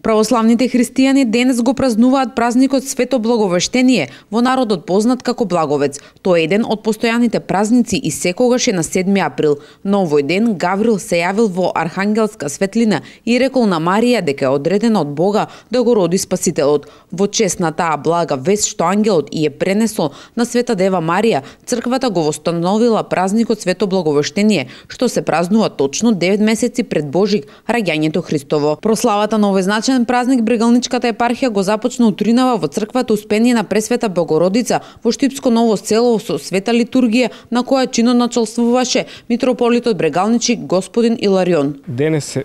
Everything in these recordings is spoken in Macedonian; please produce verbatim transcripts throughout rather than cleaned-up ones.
Православните христијани денес го празнуваат празникот Свето Благовештение, во народот познат како Благовец. Тоа е еден од постојаните празници и секогаш е на седми април. На овој ден Гаврил се јавил во архангелска светлина и рекол на Марија дека е одредена од Бога да го роди Спасителот. Во чест на таа блага вест што ангелот и е пренесол на Света Дева Марија, црквата го востановила празникот Свето Благовештение, што се празнува точно девет месеци пред Божик, раѓањето Христово. Прославата на овој значаен празник Брегалничката епархија го започна утринава во црквата Успение на Пресвета Богородица во Штипско Ново село со света литургија на која чинот началствуваше митрополитот Брегалничи господин Иларион. Денес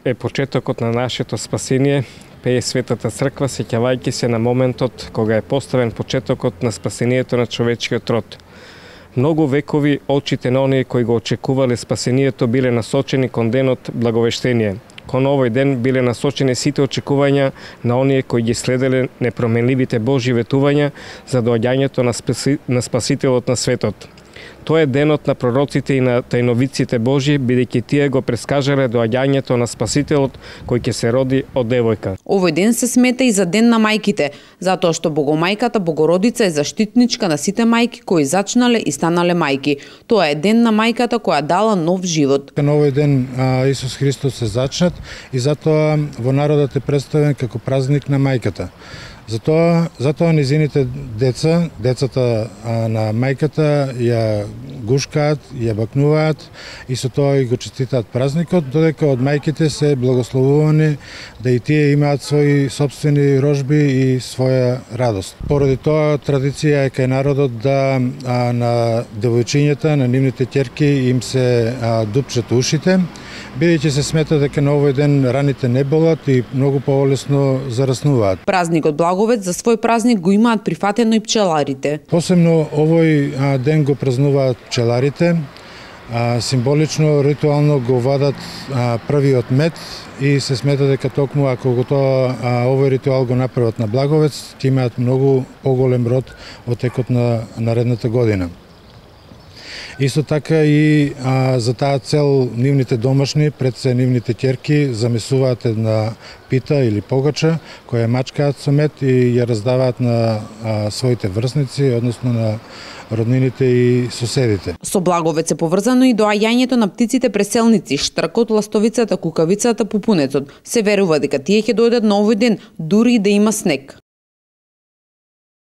е почетокот на нашето спасение, пее Светата црква сеќавајќи се на моментот кога е поставен почетокот на спасението на човечкиот род. Многу векови очите на оние кои го очекувале спасението биле насочени кон денот Благовештение. Кон овој ден биле насочени сите очекувања на оние кои ги следеле непроменливите Божји ветувања за доаѓањето на, спаси, на Спасителот на светот. Тоа е денот на пророците и на тајновиците Божји, бидејќи тие го прескажале доаѓањето на Спасителот кој ќе се роди од девојка. Овој ден се смета и за ден на мајките, затоа што Богомајката Богородица е заштитничка на сите мајки кои зачнале и станале мајки. Тоа е ден на мајката која дала нов живот. На овој ден а, Исус Христос се зачнат и затоа во народот е представен како празник на мајката. Затоа, затоа низините деца, децата а, на мајката ја гушкаат, ја бакнуваат и со тоа и го честитаат празникот, додека од мајките се благословувани да и тие имаат своји собствени рожби и своја радост. Поради тоа традиција е кај народот да а, на девојчињата, на нивните ќерки им се а, дупчат ушите, бидејќи се смета дека на овој ден раните не болат и многу полесно зараснуваат. Празникот Благовец за свој празник го имаат прифатено и пчеларите. Посебно овој а, ден го празнуваат пчеларите. А, символично, ритуално го вадат а, првиот мед и се смета дека токму ако го тоа а, овој ритуал го направат на Благовец, ќе имаат многу поголем род во текот на наредната година. Исто така и а, за таа цел нивните домашни, пред се нивните ќерки, замесуваат една пита или погача, која мачкаат со мед и ја раздаваат на а, своите врсници, односно на роднините и соседите. Со Благовец е поврзано и доаѓањето на птиците преселници, штркот, ластовицата, кукавицата, пупунецот. Се верува дека тие ќе дојдат на овој ден, дури и да има снег.